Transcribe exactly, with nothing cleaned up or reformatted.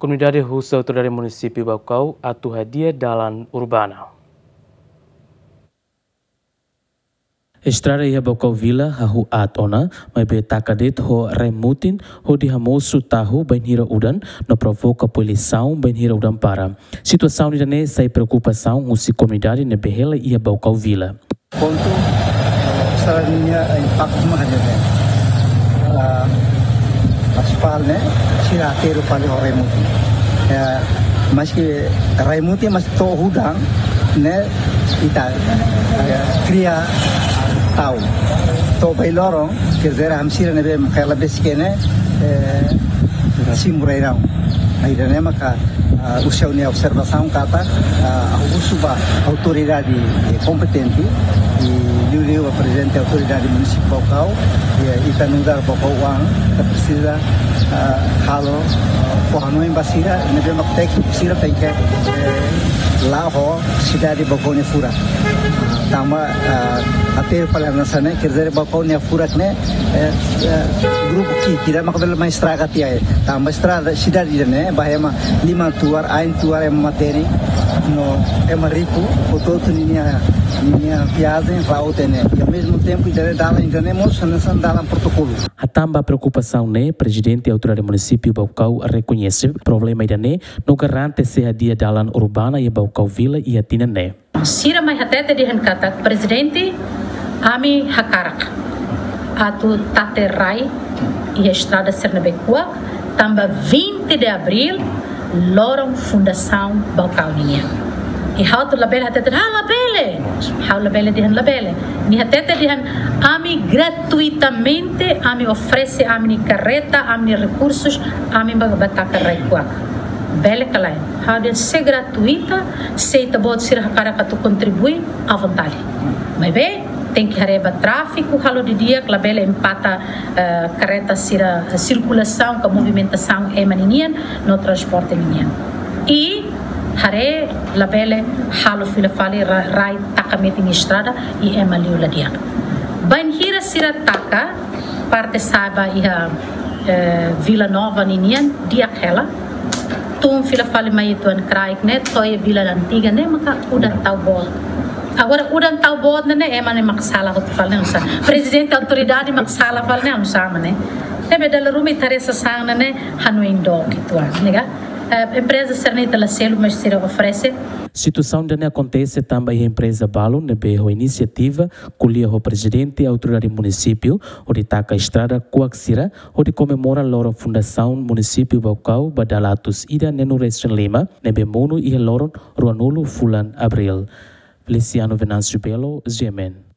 Komunidade husu Autoridade Munisípiu Baucau atu hadi'a dalan urbana. Estrada iha Baucau Vila hahú aat ona, maibé taka de'it ho rai mutin hodi hamosu tahu bainhira udan, no provoka poluisaun bainhira udan para. Situasaun ida-ne'e sai preokupasaun husi komunidade ne'ebé hela iha Baucau Vila. Pontu, eh, estrada ninia impaktu mak hanesan ne'e. Ah, aspal ne'e, sira hateru fali ho rai mutin. Eh, maski rai mutin, mas to'o udan ne'e ita, eh, kria tau. To'o ba iha loron, quer dizer, ami sira ne'ebé mak hela besik ne'e, eh, simu rai-rahun. Ida-ne'e maka, ah, husi ha'u-nia observasaun katak, ah, ha'u husu ba autoridade kompetente, i liuliu ba Prezidente Autoridade Munisípiu Baucau, i, eh, ita nu'udar Baucauan, ita presiza, ah, halo, ah, fó hanoin ba sira, ne'ebé mak tékniku sira tenke, eh, la'o ho sidade Baucau nia furak. Tanba, ah, hateru fali hanesan ne'e, quer dizer, Baucau nia furak ne'e, eh, eh, grupu ki'ik ida maka bele mai estraga tiha, eh. Tanba estrada sidade ida-ne'e, ba ema liman tuar, ain tuar ema matenek, no ema riku, hotu-hotu ninia, ninia viajen, la'o tiha ne'e. I ao mesmo tempo, ida-ne'e dalan, ida-ne'e mós hanesan dalan protokolu. Hatán ba preokupasaun ne'e, Prezidente Autoridade Munisípiu Baucau rekoñese problema ida-ne'e, no garante sei hadi'a dalan urbana iha Baucau Vila iha tinan ne'e. Sira mai hatete dehan katak, Prezidente, ami hakarak atu tata rai iha estrada sira ne'ebé kuak, tanba vinte de Abril, loron fundasaun Baucau ninian. I ha'u atu labele hatete, ah, labele. Ha'u labele dehan labele. Nia hatete dehan, ami gratuitamente, ami oferese ami-nia karreta, ami-nia rekursus, ami ba, ba taka rai kuak. Bele ka lae? Ha'u dehan se gratuita, se ita-boot sira hakarak atu kontribui, à vontade. Maibé, tenke haree ba tráfiku, halo didi'ak, labele empata, eh, karreta sira, eh, sirkulasaun ka movimentasaun ema ninian, no transporte ninian. I haree labele halo fila fali ra-, rai taka metin estrada, i ema liu la di'ak. Bainhira sira taka, parte sa'e ba iha, eh, Vila Nova ninian, di'ak hela. Tun fila fali mai uitoan kraik ne'e, to'o iha Vila Antiga ne'e, maka udan tau boot. Agora, udan tau boot ne'e, ema ne'e mak sala hotu fali ne'e, oinsá? Prezidente autoridade mak sala fali ne'e, oinsá mak ne'e? Ne'ebé dala ruma ita haree sasán ne'e, hanoin dook uitoan, ne'e ka? Eh, empreza sira-ne'e ita la selu, mas sira oferese. Situasaun ida-ne'e akontese tanba iha empreza balu ne'ebé ho inisiativa ko'alia ho Prezidente Autoridade Munisípiu hodi taka estrada kuak sira hodi komemora loron fundasaun Munisípiu Baucau ba dala atus ida neenulu resin lima ne'ebé monu iha loron ruanulu fulan Abril. Feliciano Venâncio Belo, G M N.